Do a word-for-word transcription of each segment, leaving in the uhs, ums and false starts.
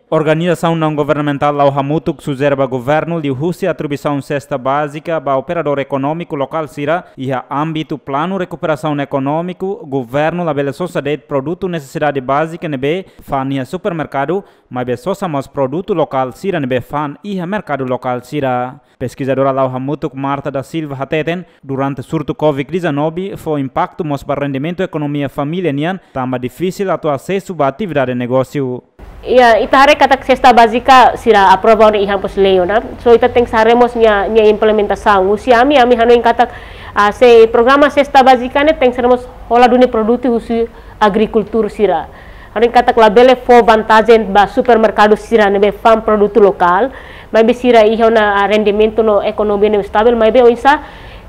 Organizasaun naun-governamentál La'o Hamutuk sujere ba governu liuhusi atribuisaun sesta bázika ba operadór ekonómiku lokál sira iha ámbitu planu rekuperasaun ekonómiku. Governu labele sosa de'it produtu nesesidade bázika ne'ebé fa'an iha supermerkadu, maibé sosa mós produtu lokál sira ne'ebé fa'an iha merkadu lokál sira. Peskizadora La'o Hamutuk, Marta da Silva, hateten, durante surtu covid dezanove fó impaktu mós ba rendimentu ekonomia família nian, tanba difisil atu asesu ba atividade negósiu. Ya, ita haree katak sesta bázika sira aprova ona iha mós lei ona. So ita tenke haree mós nia, nia implementasaun. Husi ami, ami hanoin katak, ah, se programa sesta bázika ne'e tenke haree mós hola duni produtu husi agrikultór sira. Hanoin katak labele fó vantajen ba supermerkadu sira ne'ebé fa'an produtu lokál, maibé sira iha ona, ah, rendimentu no ekonomia ne'ebé estavel, maibé oinsá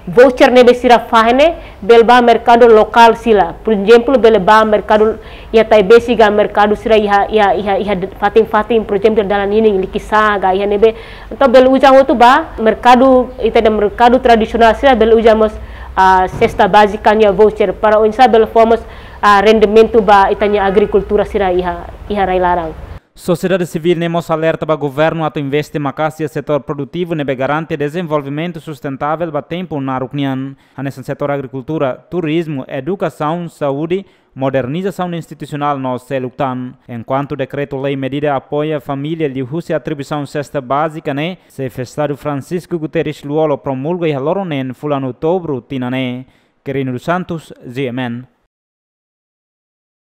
voucher ne'ebé sira fahe ne'e bele ba merkadu lokál sira. Por ezemplu, bele ba merkadu iha Taibesi ka merkadu sira iha, iha, iha, iha fatin-fatin, por ezemplu, dalan ninin Likisá ka iha ne'ebé. Entaun bele uza hotu ba merkadu, ita-nia merkadu tradisionál sira bele uza mós, ah, sesta bázika nia voucher para oinsá bele fó mós, ah, rendimentu ba ita-nia agrikultór sira iha, iha rai-laran. Sosiedade sivíl ne'e mós alerta ba governu atu investe maka'as iha setór produtivu ne'ebé garante dezenvolvimentu sustentável ba tempu naruk nian, hanesan setór agrikultura, turizmu, edukasaun, saúde, modernizasaun institusionál no seluk tan. Enkuantu dekretu-lei medida apoia família liuhusi atribuisaun sesta bázika ne'e, Xefe Estadu Francisco Guterres Lú-Olo promulga iha loron neen fulan Outubru tinan ne'e. Quirino dos Santos, G M N.